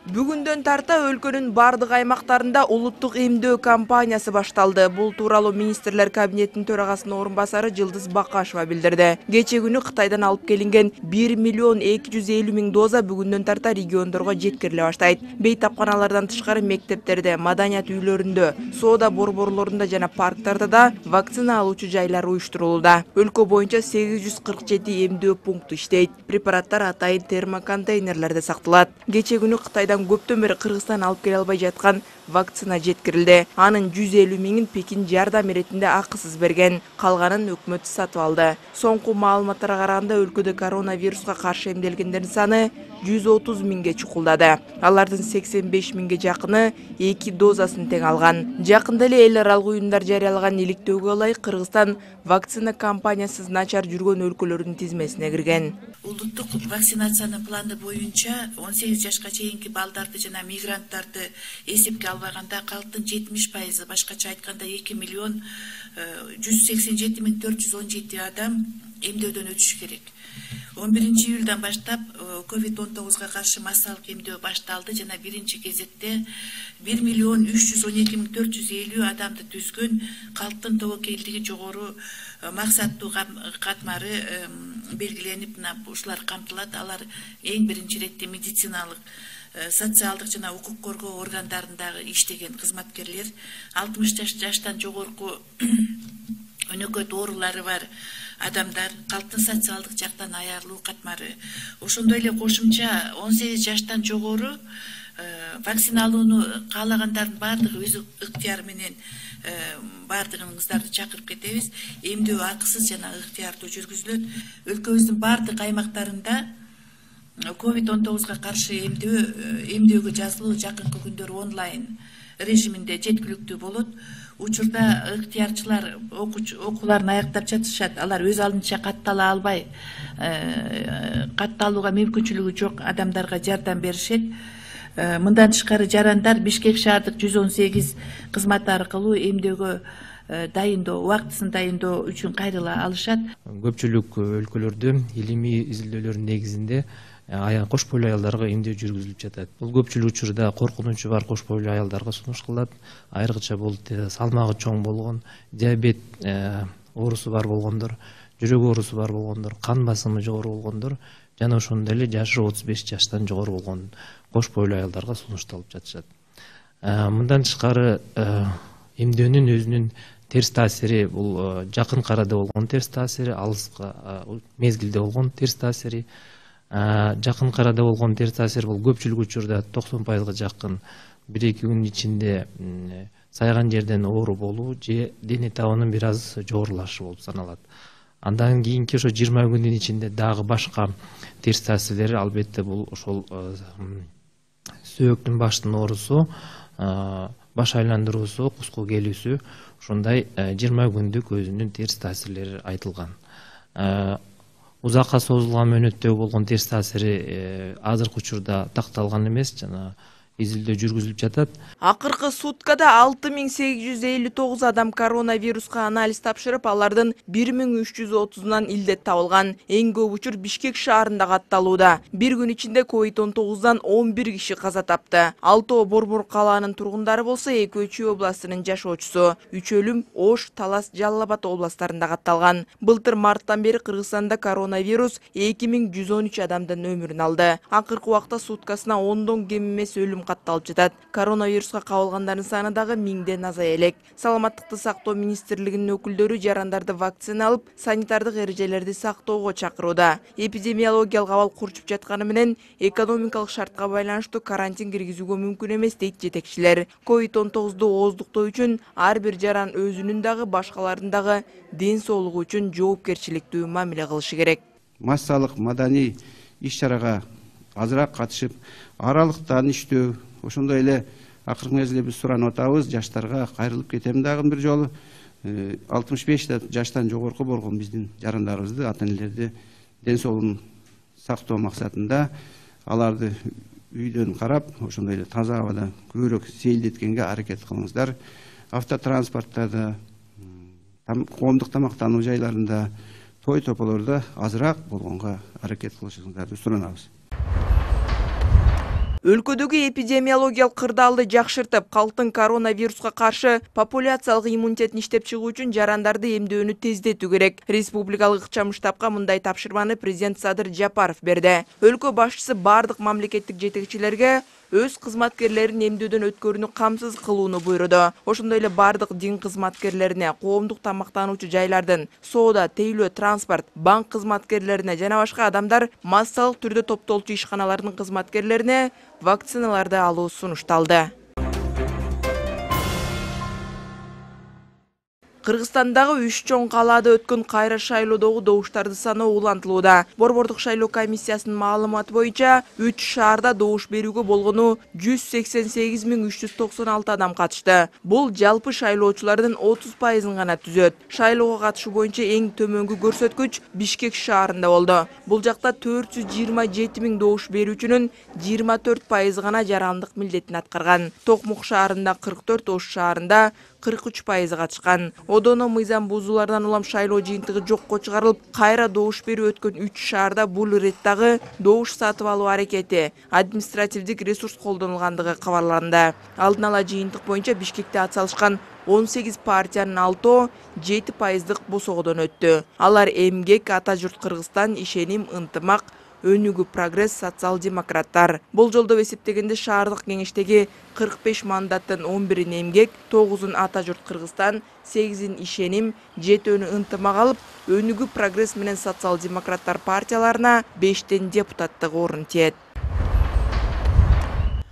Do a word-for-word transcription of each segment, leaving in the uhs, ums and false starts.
Бүгүндөн тарта өлкөнүн бардык аймактарында улуттук эмдөө кампаниясы башталды. Бул тууралуу министрлер кабинетинин төрагасынын орун басары Жылдыз Бакашева билдирди. Кече күнү Кытайдан алып келинген бир миллион эки жүз элүү миң доза бүгүндөн тарта региондорго жеткириле баштайт. Бейтапканалардан тышкары мектептерде, маданият үйлөрүндө, соода борборлорунда жана парктарда да вакцина алуучу жайлар уюштурулууда. Өлкө боюнча сегиз жүз кырк жети эмдөө пункту иштейт. Препараттар атайын термоконтейнерлерде сакталат. Кече күнү Кытайдан көптөн бери Кыргызстан алып келе албай жаткан вакцина жеткирилди. Анын жүз элүү миңин Пекин жардам иретинде акысыз берген, калганын өкмөт сатып алды. Соңку маалыматтарга караганда өлкөдө коронавируска каршы эмделгендердин саны жүз отуз миңге чукулдады. Алардын сексен беш миңге жакыны эки дозасын тең алган. Жакында эле эл аралык уюмдар жарыялаган иликтөөгө ылайык Кыргызстан вакцина кампаниясыз начар жүргөн өлкөлөрдүн тизмесине кирген. Улуттук вакцинациянын планы боюнча он сегиз жашка чейинки балдарды жана мигранттарды эсепке албаганда калктын жетимиш пайызы, башкача айтканда эки миллион жүз сексен жети миң төрт жүз он жети адам эмдөөдөн өтүшү керек. он биринчи июлдан баштап ковид он тогузга каршы массалык эмдөө башталды жана биринчи кезекте бир миллион үч жүз он эки миң төрт жүз элүү адамды түзгөн калктын тобокелдиги жогору максаттуу катмары белгиленип, ушулар камтылат. Алар эң биринчи иретте медициналык, социалдык жана укук коргоо органдарындагы иштеген кызматкерлер, алтымыш жаштан жогорку өнөкөт оорулары бар адамдар, калктын социалдык жактан аярлуу катмары. Ошондой эле кошумча он сегиз жаштан жогору вакциналууну каалагандардын баардыгы өз ыктыяры менен баардыгыңыздарды чакырып кетебиз. Эмдөө акысыз жана ыктыярдуу жүргүзүлөт. Өлкөбүздүн баардык аймактарында ковид он тогузга каршы эмдөө эмдөөгө жазылуу жакынкы күндөр онлайн режиминде жеткиликтүү болот. Учурда ыктыярчылар окууларын аяктап жатышат. Алар өз алдынча каттала албай, катталууга мүмкүнчүлүгү жок адамдарга жардам беришет. Мындан тышкары жарандар Бишкек шаардык жүз он сегиз кызматы аркылуу эмдөөгө дайындоо, убактысын дайындоо үчүн кайрыла алышат. Көпчүлүк өлкөлөрдө илимий изилдөөлөрдүн негизинде кош бойлуу аялдарга эмдөө жүргүзүлүп жатат. Бул көпчүлүк учурда коркунучу бар кош бойлуу аялдарга сунуш кылат. Айрыкча бул салмагы чоң болгон, диабет оорусу бар болгондор, жүрөк оорусу бар болгондор, кан басымы жогору болгондор жана ошондой эле жашы отуз беш жаштан жогору болгон кош бойлуу аялдарга сунушталып жатышат. Мындан тышкары эмдөөнүн өзүнүн терс таасири, бул жакын арада болгон терс таасири, алыска мезгилде болгон терс таасири, жакын арада болгон терс таасир бул көпчүлүк учурда токсон пайызга жакын бир эки күн ичинде сайган жерден оору болуу же дене табынын бир аз жогорулашы болуп саналат. Андан кийинки ошо жыйырма күндүн ичинде дагы башка терс таасирлери, албетте бул ошол сөөктүн баштын оорусу, баш айландыруусу, куску келүүсү, ушундай жыйырма күндүк өзүнүн терс таасирлери айтылган. Узакка созулган мөөнөттөгү болгон терс таасири азыркы учурда такталган эмес, жана изилдөө жүргүзүлүп жатат. Акыркы суткада алты миң сегиз жүз элүү тогуз адам коронавируска анализ тапшырып, алардын бир миң үч жүз отузунан илдет табылган. Эң көп учур Бишкек шаарында катталууда. Бир күн ичинде ковид он тогуздан он бир киши каза тапты. Алтоо Борбор калаанын тургундары болсо экөө Чүй областынын жашоочусу. Үч өлүм Ош, Талас, Жалал Абад областарында катталган. Былтыр марттан бери Кыргызстанда коронавирус эки миң жүз он үч адамдын өмүрүн алды. Акыркы убакта суткасына ондон кем эмес өлүм катталып жатат. Коронавируска кабылгандардын саны дагы миңден азая элек. Саламаттыкты сактоо министрлигинин өкүлдөрү жарандарды вакцина алып, санитардык эрежелерди сактоого чакырууда. Эпидемиологиялык абал курчуп жатканы менен экономикалык шартка байланыштуу карантин киргизүүгө мүмкүн эмес дейт жетекчилер. ковид он тогузду ооздуктоо үчүн ар бир жаран өзүнүн дагы башкалардын дагы ден соолугу үчүн жоопкерчиликтүү мамиле кылышы керек. Массалык маданий иш-чарага азыраак катышып, аралыктан иштөө, ошондой эле акыркы мезгилде биз суранып атабыз, жаштарга кайрылып кетем дагы бир жолу. алтымыш беш жаштан жогорку болгон биздин жарандарыбызды, ата энелерди ден соолугун сактоо максатында аларды үйдөн карап, ошондой эле таза абада көбүрөөк сейилдеткенге аракет кылыңыздар. Автотранспорттарда, коомдук тамактануу жайларында, той тополордо азыраак болгонго аракет кылышыңыздарды суранабыз. Өлкөдөгү эпидемиологиялык кырдаалды жакшыртып, калктын коронавируска каршы популяциялык иммунитетин иштеп чыгуу үчүн жарандарды эмдөөнү тездетүү керек. Республикалык ыкчам штабка мындай тапшырманы президент Садыр Жапаров берди. Өлкө башчысы бардык мамлекеттик жетекчилерге өз кызматкерлерин эмдөөдөн өткөрүүнү камсыз кылууну буйруду. Ошондой эле бардык дин кызматкерлерине, коомдук тамактануучу жайлардын, соода, тейлөө, транспорт, банк кызматкерлерине жана башка адамдар массалык түрдө топтолчу ишканалардын кызматкерлерине вакциналарды алуу сунушталды. Кыргызстандагы үч чоң калаада өткөн кайра шайлоодогу добуштарды саноо улантылууда. Борбордук шайлоо комиссиясынын маалыматы боюнча үч шаарда добуш берүүгө болгону жүз сексен сегиз миң үч жүз токсон алты адам катышты. Бул жалпы шайлоочулардын отуз пайызын гана түзөт. Шайлоого катышуу боюнча эң төмөнгү көрсөткүч Бишкек шаарында болду. Бул жакта төрт жүз жыйырма жети миң добуш берүүчүнүн жыйырма төрт пайызы гана жарандык милдетин аткарган. Токмок шаарында кырк төрт, Ош шаарында кырк үч пайызы катышкан. Одоно мыйзам бузуулардан улам шайлоо жыйынтыгы жокко чыгарылып, кайра добуш берүү өткөн үч шаарда бул иреттагы добуш сатып алуу аракети, административдик ресурс колдонулгандыгы кабарланды. Алдын ала жыйынтык боюнча Бишкекте ат салышкан он сегиз партиянын алтоо жети пайыздык босогодон өттү. Алар Эмгек, Ата журт Кыргызстан, Ишеним, Ынтымак, Өнүгүү, Прогресс, социал-демократтар. Бул жолдо эсептегенде шаардык кеңештеги кырк беш мандаттын он бирин Эмгек, тогузун Ата журт Кыргызстан, сегизин Ишеним, жетөөнү Ынтымак алып, Өнүгүү, Прогресс менен социал-демократтар партияларына бештен депутаттык орун тиет.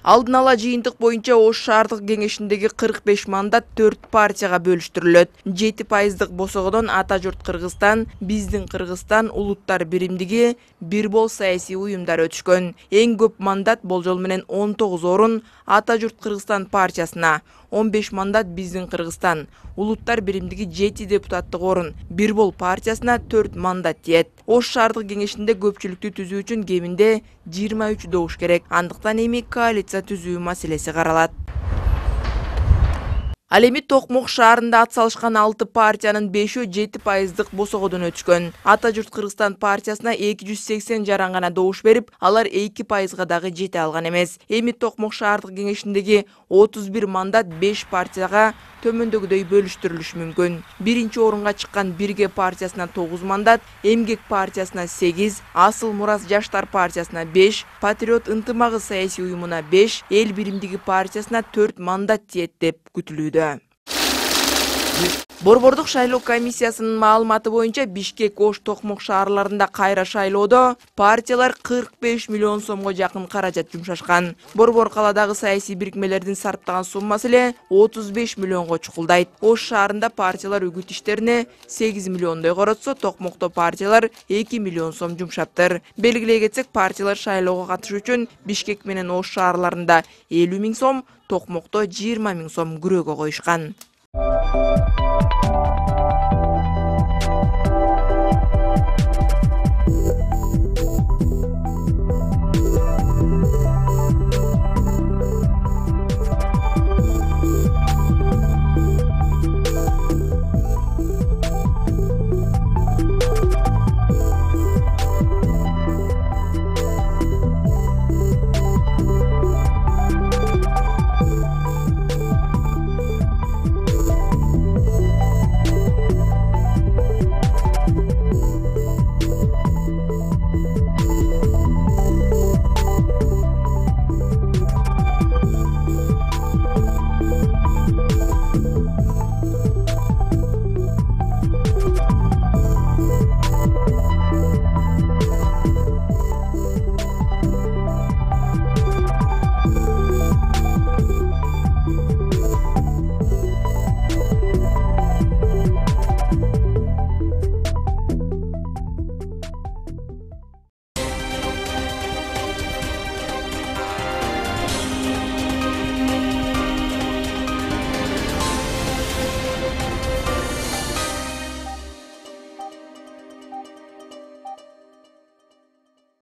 Алдын ала жыйынтык боюнча Ош шаардык кеңешиндеги кырк беш мандат төрт партияга бөлүштүрүлөт. жети пайыздык босогодон Ата журт Кыргызстан, Биздин Кыргызстан, Улуттар биримдиги, Бир бол саясий уюмдар өтүшкөн. Эң көп мандат болжол менен он тогуз орун Ата журт Кыргызстан партиясына, он беш мандат Биздин Кыргызстан, Улуттар биримдиги жети депутаттык орун, Бир бол партиясына төрт мандат тиет. Ош шаардык кеңешинде көпчүлүктү түзүү үчүн кеминде жыйырма үч добуш керек. Андыктан эми коалиция түзүү маселеси каралат. Ал эми Токмок шаарында ат салышкан алты партиянын бешөө жети пайыздык босогодон өтүшкөн. Ата журт Кыргызстан партиясына эки жүз сексен жаран гана добуш берип, алар эки пайызга дагы жете алган эмес. Эми Токмок шаардык кеңешиндеги отуз бир мандат беш партияга төмөндөгүдөй бөлүштүрүлүшү мүмкүн. Биринчи орунга чыккан Бирге партиясына тогуз мандат, Эмгек партиясына сегиз, Асыл Мурас жаштар партиясына беш, Патриот Ынтымагы саясий уюмуна беш, Эл биримдиги партиясына төрт мандат тиет деп күтүлүүдө. Борбордук шайлоо комиссиясынын маалыматы боюнча Бишкек, Ош, Токмок шаарларында кайра шайлоодо партиялар кырк беш миллион сомго жакын каражат жумшашкан. Борбор каладагы саясий бирикмелердин сарптаган суммасы эле отуз беш миллионго чукулдайт. Ош шаарында партиялар үгүт иштерине сегиз миллиондой коротсо, Токмокто партиялар эки миллион сом жумшаптыр. Белгилей кетсек, партиялар шайлоого катышуу үчүн Бишкек менен Ош шаарларында элүү миң сом, Токмокто жыйырма миң сом күрөөгө коюшкан.